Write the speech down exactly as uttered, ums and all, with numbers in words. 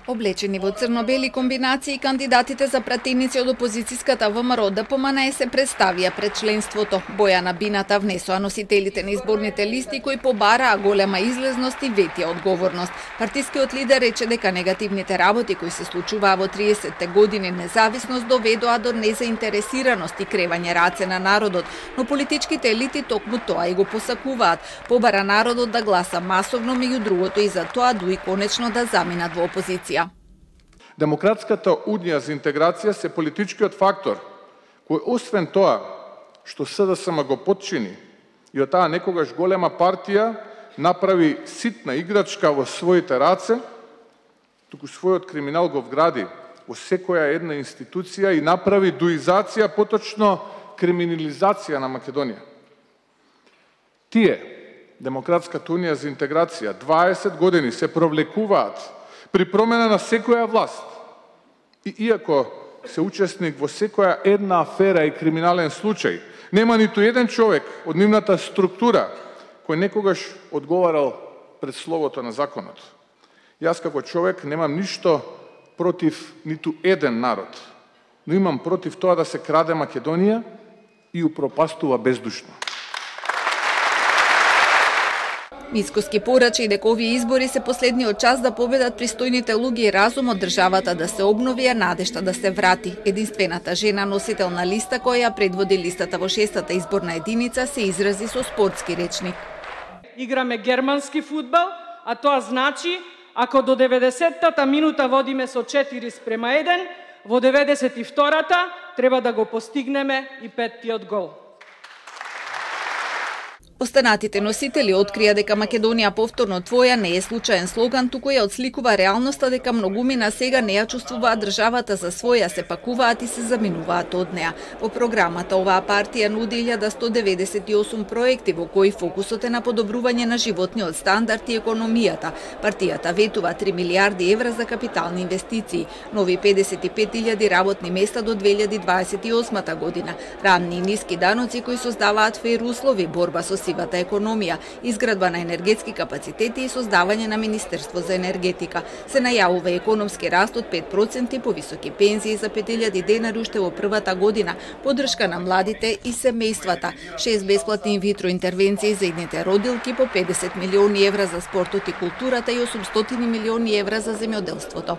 Облечени во црно-бели комбинации, кандидатите за пратеници од опозицијската ВМРО Д П М Н Е се представија пред членството. Бојана Бината внесоа носителите на изборните листи кои побараа голема излезност и ветија одговорност. Партискиот лидер рече дека негативните работи кои се случуваа во триесетте години независност доведоа до незаинтересираност и кревање раце на народот, но политичките елити токму тоа и го посакуваат. Побара народот да гласа масовно, меѓу другото и за тоа дуи конечно да заминат во опозиција. Демократската унија за интеграција се политичкиот фактор, кој освен тоа што С Д С М го подчини и од таа некогаш голема партија направи ситна играчка во своите раце, туку својот криминал го вгради во секоја една институција и направи дуизација, поточно криминализација на Македонија. Тие, Демократската унија за интеграција, дваесет години се провлекуваат при промена на секоја власт. И иако се учесник во секоја една афера и криминален случај, нема ниту еден човек од нивната структура кој некогаш одговарал пред словото на законот. Јас како човек немам ништо против ниту еден народ, но имам против тоа да се краде Македонија и упропастува бездушно. Мицкоски порача и дека овие избори се последниот час да победат пристојните луѓе и разум од државата да се обнови, а надежта да се врати. Единствената жена носител на листа која ја предводи листата во шестата изборна единица се изрази со спортски речник. Играме германски фудбал, а тоа значи ако до деветдесеттата минута водиме со четири спрема еден, во деветдесет и втората треба да го постигнеме и петтиот гол. Останатите носители открија дека Македонија повторно твоја не е случаен слоган, туку ја отсликува реалноста дека многумина сега не ја чувствуваат државата за своја, се пакуваат и се заминуваат од неа. Во програмата оваа партија нуди илјада сто деветдесет и осум проекти во кои фокусот е на подобрување на животниот стандард и економијата. Партијата ветува три милијарди евра за капитални инвестиции, нови педесет и пет илјади работни места до две илјади дваесет и осма година, ранни и ниски даноци кои создаваат фер услови, борба со сивата економија, изградба на енергетски капацитети и создавање на Министерство за енергетика. Се најавува економски раст од пет проценти, повисоки пензии за пет илјади денари уште во првата година, поддршка на младите и семејствата, шест бесплатни инвитро интервенции за идните родилки, по педесет милиони евра за спортот и културата и осумстотини милиони евра за земјоделството.